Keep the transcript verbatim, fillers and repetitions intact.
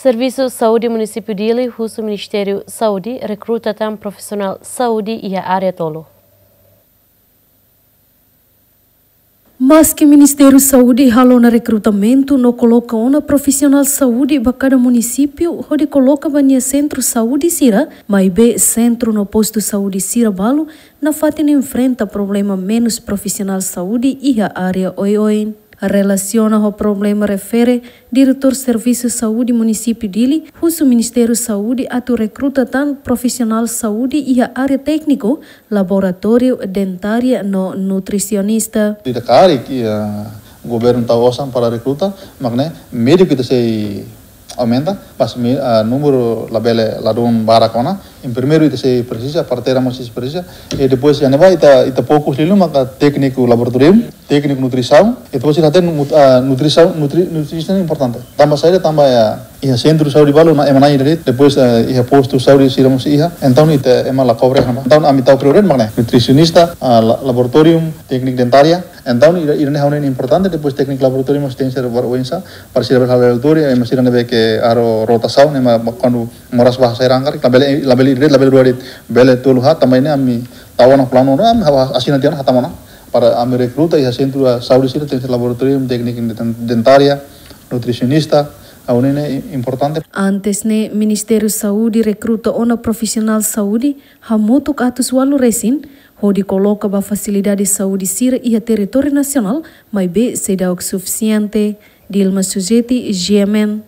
Servisu Saúde Munisípiu Dili husu Ministériu Saúde rekruta tan profisionál saúde iha área tolu. Maski Ministériu Saúde halo ona rekrutamentu no koloka ona profisionál saúde ba kada munisípiu hodi koloka ba nia sentru saúde sira, maibé sentru no postu saúde sira balu nafatin enfrenta problema menus profisionál saúde iha área oioin. Relasiona ho problema refere, Diretór Servisu Saúde Munisípiu Dili husu Ministériu Saúde atu rekruta tan profisionál saúde iha área tékniku, laboratóriu, dentária no nutrisionista. Ita karik, eh, governu tau osan para rekruta, mak ne'e médiku ita sei aumenta, mas mi, ah, númeru labele ladún barak ona. Em primeiru ita sei presiza, parteira mós sei presiza. I depois iha ne'ebá ita, ita fokus liu maka tékniku laboratóriu, tékniku nutrisaun, i depois ita hatene nut-, ah, nutrisaun, nutri-, nutrisaun importante. Tanba saida, tanba iha, iha sentru saúde balu ema na'in de'it, depois, ah, iha postu saúde sira mós iha. Entaun ita ema la kobre ona. Entaun ami tau prioridade mak ne'e nutrisionista, ah, la-, laboratóriu, tékniku dentária. Entaun ida, ida ne'e ha'u hanoin importante, depois tékniku laboratóriu mós tenke ser ba oinsá, para sira bele halo laboratóriu, ema sira ne'ebé ke halo rotasaun, ema ba-, kuandu moras ba sai rangkar, labele, labele ida de'it, labele rua de'it, bele tolu haat, tanba ne'e ami tau ona planu, ami ha'u asina tiha ona, hatama ona, para ami rekruta iha sentru, ah, saúde sira tenke ser laboratóriu, tékniku den-, dentária, nutrisionista, ha'u hanoin ne'e importante. Antes ne'e, Ministériu Saúde rekruta ona profisionál saúde hamutuk atus ualu resin, hodi koloka ba fasilidade saúde sira iha territóriu nasionál, maibé seidauk sufisiente. Dilma Sujeti, G M N.